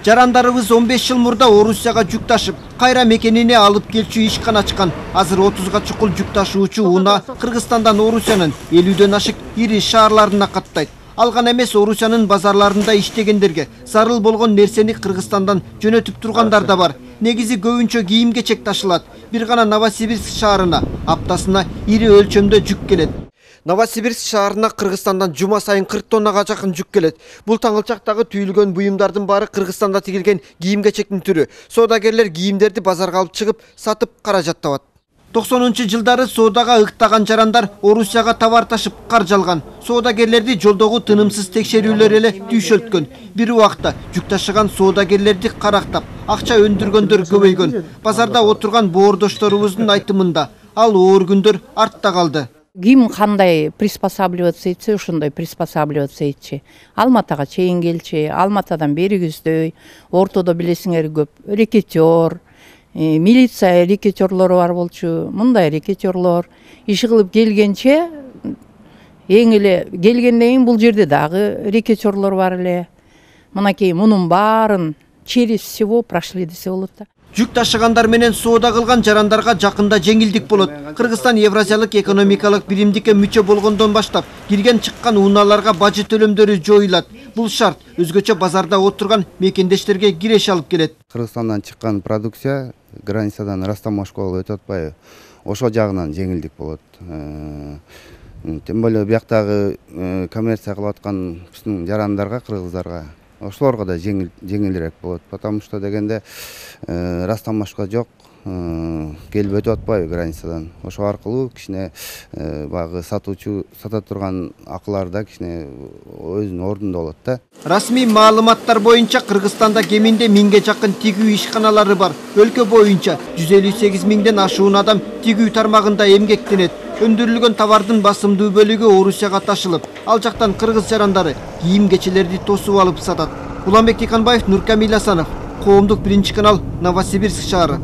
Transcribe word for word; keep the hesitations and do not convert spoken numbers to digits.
Жарандарыбыз он беш жыл мурда Орусияга жүк ташып, кайра мекенине алып келчү ишкана ачкан. Азыр отузга чукул жүк ташуучу унаа Кыргызстандан Орусиянын элүүдөн ашык ири шаарларына каттайт. Ал гана эмес, Орусиянын базарларында иштегендерге зарыл болгон нерсени Кыргызстандан жөнөтүп тургандар да бар. Негизи көбүнчө кийим-кечек ташылат. Бир гана Новосибирск шаарына аптасына ири өлчөмдө жүк келет. Новосибирск шаарына Кыргызстандан жума сайын кырк тоннага жакын жүк келет. Бул таңылчактагы түйүлгөн буюмдардын баары Кыргызстанда тигилген кийим-кечектин түрү. Соодагерлер кийимдерди базарга алып чыгып, сатып каражат табат. токсонунчу жылдары соодага ыктаган жарандар Орусияга товар ташып каржы алган. Соодагерлерди жолдогу тынымсыз текшерүүлөр эле түйшөлткөн. Бир убакта жүк ташыган соодагерлерди карактап, акча өндүргөндөр көбөйгөн. Базарда отурган боордошторубуздун айтымында ал оор күндөр артта калды. Ким кандай приспосабливаться этсе, ошондой приспосабливаться этчи. Алматага чейин келчи, Алматадан бери көздөй, ортодо билесиңер көп рекетер, милиция рекетерлору бар болчу, мындай рекетерлор. Иши кылып келгенче, эң эле келгенден кийин бул жерде дагы рекетерлор бар эле. Мынакей мунун баарын через всего прошли десе болот да. Жүк ташыгандар менен соода кылган жарандарга жакында жеңилдик болот. Кыргызстан Евразиялык экономикалык биримдикке мүчө болгондон баштап кирген чыккан унааларга бажы төлөмдөрү жоюлат. Бул шарт өзгөчө базарда отурган мекендештерге киреш алып келет. Кыргызстандан чыккан продукция границадан растамашкалуу өтүп атпайбы? Ошол жагынан жеңилдик болот. Тем более бияктагы коммерция кылып аткан биздин жарандарга, кыргыздарга ошолорго да жеңилирээк болот. Потому что дегенде растамашка жок, келип өтүп атпайбы границадан. Ошол аркылуу кичине багы сатуучу сата турган акылар да кичине өзүнүн ордунда болот да. Расмий маалыматтар боюнча Кыргызстанда кеминде миңге жакын тигүү ишканалары бар. Өлкө боюнча жүз элүү сегиз миңден ашуун адам тигүү тармагында эмгектенет. Өндүрүлгөн товардын басымдуу бөлүгү Орусияга ташылып, ал жактан кыргыз жарандары кийим-кечелерди тосуп алып сатат. Уланбек Тиканбаев, Нуркамил Асанов, Коомдук биринчи канал, Новосибирск шаары.